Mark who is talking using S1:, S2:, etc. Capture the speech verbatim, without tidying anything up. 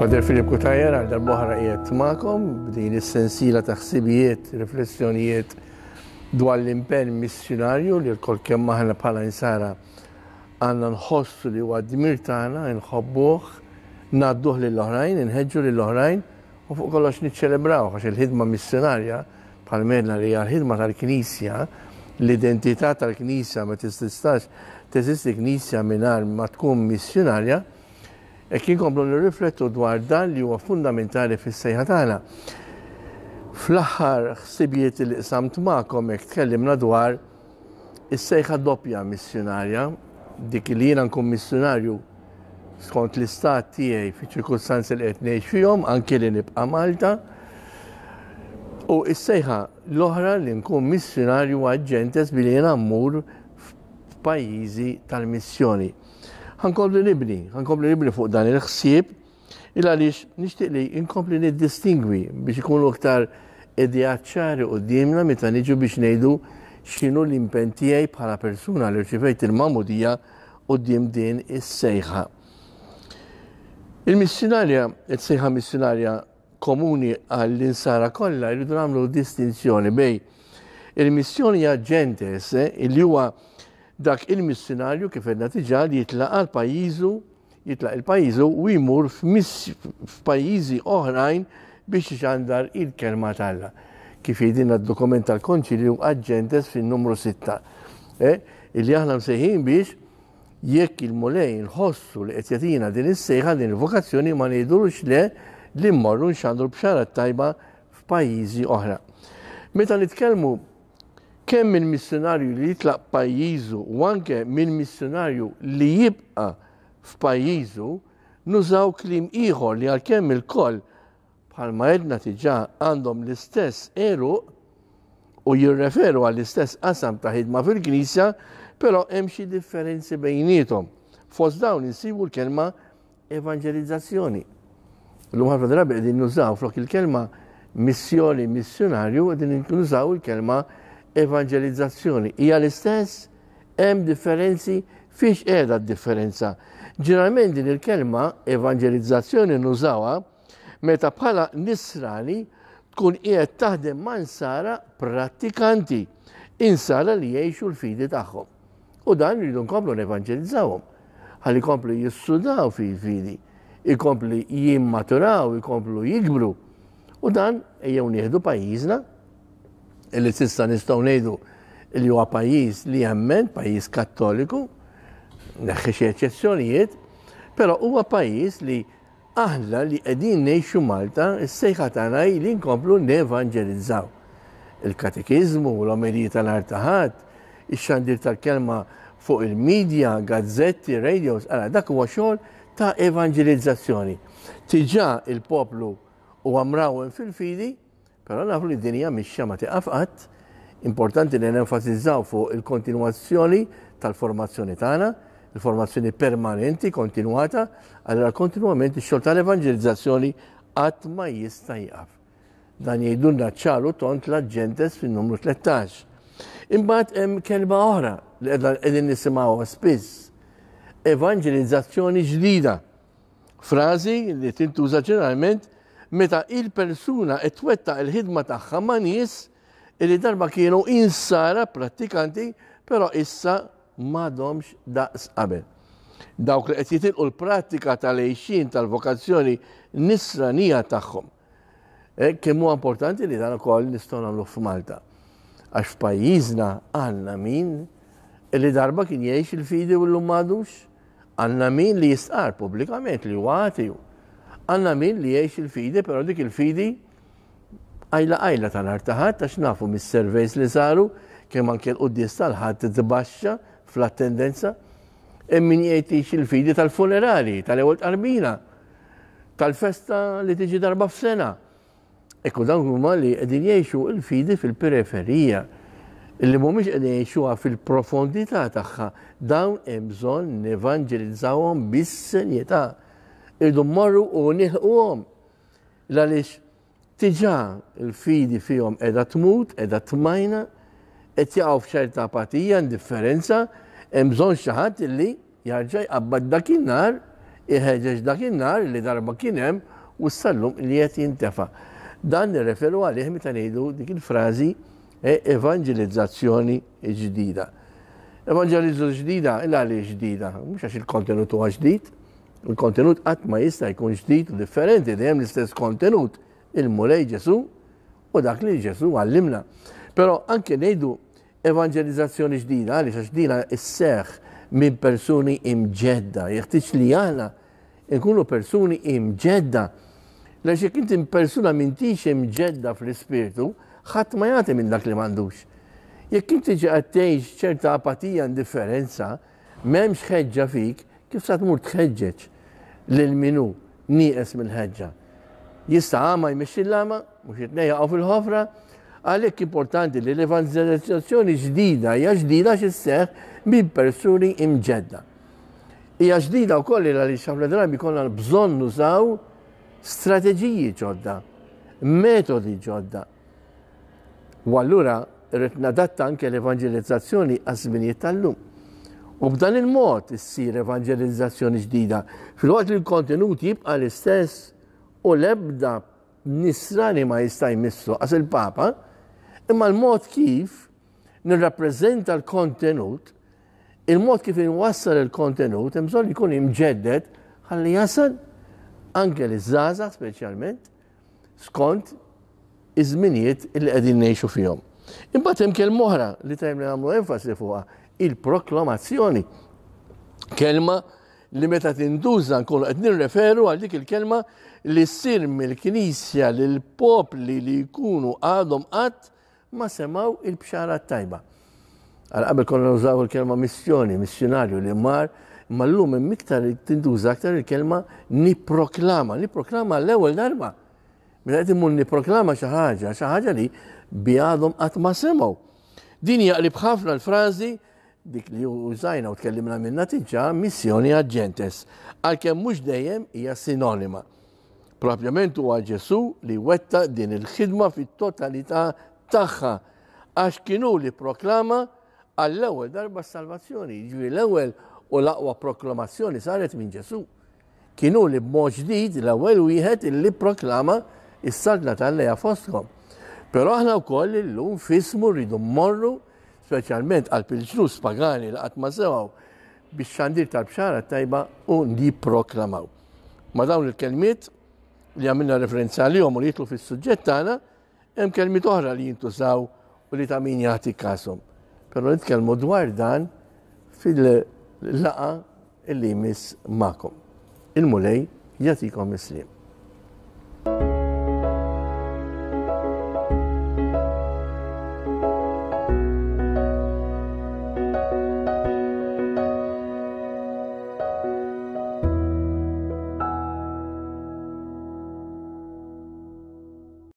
S1: Father Philip Cutajar għal darb'oħra qiegħed magħkom b'din is-sensiela ta' ħsibijiet, riflessjonijiet dwar l-impenn missjunarju li lkoll kemm aħna bħala insara għandna nħossu li huwa dmir tagħna nħobbuh, ngħadduh lill-oħrajn, inħeġġu lill-oħrajn u fuq kollox niċċelebraw għax il-ħidma missjunarja bħal għedna li hija l-ħidma tal-Knisja, l-identità tal-Knisja ma tistax teżisti Knisja mingħajr ma tkun missjunarja. E kien komplu nirriflettu dwar dan li huwa fundamentali fis-sejħa tagħna. Fl-aħħar ħsibijiet li qsamt magħkom hekk tkellimna dwar is-sejħa doppja missjunarja, dik li jiena nkun missjunarju skont l-istat tiegħi fiċ-ċirkustanzi li qed ngħix fihom, anke li nibqa' Malta. U s-sejħa l-oħra li nkun missjunarju ad gentes billi jiena mmur f'pajjiżi tal-missjoni. Ħa nkompli nibni, ħa nkompli nibni fuq dan il-ħsieb, il għaliex nixtieq li nkompli niddistingwi biex ikunu aktar ideat ċari quddiemna meta niġu biex ngħidu x'inhu l-impenn tiegħi bħala persuna li rċivejt il-magħmudija quddiem din is-sejħa. Il-missjunarja, is-sejħa missjunarja komuni għall-insara kollha, jridu nagħmlu distinzjoni bejn il-missjoni ad gentes, li huwa dak il-missjonarju kif għedna diġà li jitlaq għal pajjiżu, jitlaq il-pajjiżu u jmur f'pajjiżi oħrajn biex ixandar il-kelma t'Alla. Kif jgħidilna d-dokument tal-Konċilju Ad Gentes fin-numru sitta. Eh, illi aħna msejħin biex jekk il-Mulej nħossu li qed jagħtina din is-sejħa, din il-vokazzjoni, ma ngħidulux le li mmorru nxandru bxara tajba f'pajjiżi oħra. Meta nitkellmu kemm minn missjonarju li jitlaq pajjiżu u anke minn missjonarju li jibqa' f'pajjiżu, nużaw kliem ieħor li għalkemm ilkoll bħalma għedna diġà għandhom l-istess għeruq u jirreferu għall-istess qasam ta' ħidma fil-Knisja, però hemm xi differenzi bejniethom. Fost dawn insibu l-kelma evanġelizzazzjoni. Illum ħafna drabi qegħdin nużaw flok il-kelma missjoni, missjonarju, qegħdin nużaw il-kelma evanġelizzazzjoni. Hija l-istess, hemm differenzi, fiex qiegħda d-differenza? Ġeneralment din il-kelma evanġelizzazzjoni nużawha meta bħala nisrani tkun qiegħed taħdem ma' insara prattikanti, insara li jgħixu l-fidi tagħhom. U dan rridu nkomplu nevanġelizzawhom. Ħalli jkomplu jissudaw fil-fidi, ikomplu jimmaturaw, ikomplu jikbru. U dan ejjew nieħdu pajjiżna, illi s'issa nistgħu ngħidu li huwa pajjiż li jemmen, pajjiż kattoliku, neħħi xi eċċezzjonijiet, però huwa pajjiż li aħna li qegħdin ngħixu Malta, is-sejħa tagħna hi li nkomplu nevanġelizzaw. Il-katekiżmu, l-omeliji tal-nhar ta' Ħadd, ix-xandir tal-kelma fuq il-medja, gazzetti, radios, ara dak huwa xogħol ta' evanġelizzazzjoni. Diġà il-poplu huwa mrawwem fil-fidi, però nafu li d-dinja mixja ma tieqaf qatt. Importanti li nenfasizzaw fuq il-kontinwazzjoni tal-formazzjoni tagħna, il-formazzjoni permanenti, kontinwata, allora kontinwament ix-xogħol tal-evanġelizzazzjoni qatt ma jista' jieqaf. Dan jgħidulna ċaru tont l-Ad Gentes fin-numru tlettax. Imbagħad hemm kelma oħra li qegħdin nisimgħuha spiss. Evanġelizzazzjoni ġdida. Frażi li tintuża ġeneralment meta il-persuna qed twettaq il-ħidma tagħha ma' nies li darba kienu insara prattikanti, però issa m'għadhomx daqs qabel. Dawk li qed jitilqu l-prattika tal-għejxin tal-vokazzjoni nisranija tagħhom. E, kemm huwa importanti li dan ukoll nistgħu nagħmlu f'Malta. Għax f'pajjiżna għandna min li darba kien jgħix il-fidi u llum m'għadux, għandna min li jistqar pubblikament li huwa ateu. Għandna min li jgħix il-fidi, però dik il-fidi għajla għajla ta' nhar ta' Ħadd, għax nafu mis-surveys li saru kemm anke l-quddies tal-Ħadd tbaxxa fl-attendenza. Hemm min jgħix il-fidi tal-funerali, tal-ewwel tqarbina, tal-festa li tiġi darba f'sena. Ekku dawn huma li qegħdin jgħixu l-fidi fil-periferija, illi mhumiex qegħdin jgħixuha fil-profondità tagħha. Dawn hemm bżonn nevanġelizzawhom bis-serjetà. Irdu mmorru u nilħquhom. Għaliex diġà l-fidi fihom qiegħda tmut, qiegħda tmajna, qed jaqgħu f'ċerta apatija, indifferenza, hemm bżonn xi ħadd illi jarġa' jqabbad dakinhar, iħeġġeġ dakinhar li darba kien hemm u sal-lum li qed jintefa'. Dan nirreferu għalih meta ngħidu dik il-frażi evanġelizzazzjoni ġdida. Evanġelizzazzjoni ġdida, illa għaliex ġdida? Mhux għax il-kontenut huwa ġdid, il-kontenut qatt ma jista' jkun ġdid u differenti, dejjem l-istess kontenut, il-Mulej Ġesù u dak li Ġesù għallimna. Però anke ngħidu evanġelizzazzjoni ġdida, għaliex għax dina isseħħ minn persuni imġedda, jeħtieġ li aħna nkunu persuni imġedda. Għax jekk inti persuna m'intix imġedda fl-ispirtu, ħadd ma jagħti minn dak li m'għandux. Jekk inti ġi qed tgħix ċerta apatija, indifferenza, m'hemmx ħeġġa fik, kif sa tmur tħeġġeġ lil min hu nieqes mill-ħeġġa? Jista' għama jmexxi l-għama, mhux it-tnejn jaqgħu fil-ħofra? Għalhekk importanti li l-evanġelizzazzjoni ġdida hija ġdida x'isseħħ minn persuni imġedda. Hija ġdida wkoll għaliex ħafna drabi jkollna bżonn nużaw strateġiji ġodda, metodi ġodda. U allura rrid nadatta anke l-evanġelizzazzjoni għaż-żminijiet tal-lum. U b'dan il-mod issir evanġelizzazzjoni ġdida, filwaqt li l-kontenut jibqa' l-istess u l-ebda nisrani ma jista' jmissu għas il-Papa, imma l-mod kif nirrappreżenta l-kontenut, il-mod kif inwassal il-kontenut, hemm bżonn jkun imġedded ħalli jasal anke liż-żgħażagħ speċjalment skont iż-żminijiet li qegħdin ngħixu fihom. Imbagħad hemm kelma oħra li tajjeb li nagħmlu enfasi fuqha, il-proklamazzjoni. Kelma li meta tintuża nkunu qed nirreferu għal dik il-kelma li ssir mill-Knisja lil popli li jkunu għadhom qatt ma semgħu il-bxara tajba. Għal qabel konna nużaw il-kelma missjoni, missjonarju li mar, imma llum hemm iktar tintuża aktar il-kelma nipproklama, nipproklama l-ewwel darba. Meta qed immur nipproklama xi ħaġa, xi ħaġa li bi għadhom qatt ma semgħu. Din jaqlib ħafna l-frażi dik li użajna u tkellimna minna diġà, missjoni ad gentes, għalkemm mhux dejjem hija sinonima. Propjament huwa Ġesù li wetta din il-ħidma fit-totalità tagħha, għax kienu li proklama għall-ewwel darba s-salvazzjoni. Jiġifieri l-ewwel u l-aqwa proklamazzjoni saret minn Ġesù. Kienu li b'mod ġdid l-ewwel wieħed illi proklama is-saltna tal-lejha fostkom. Però aħna wkoll illum fismu rridu mmorru speċjalment għal il-ġnus pagani li qatt ma semgħu biex xandir tal-bxara tajba u nipproklamaw. Ma dawn il-kelmiet li għamilna referenza għalihom u li jitlu fis-suġġett tagħna, hemm kelmiet oħra li jintużaw u li ta' min jagħti kashom. Però nitkellmu dwar dan fil-laqa illi jmiss magħkom. Il-Mulej jagħtikom is-sliem.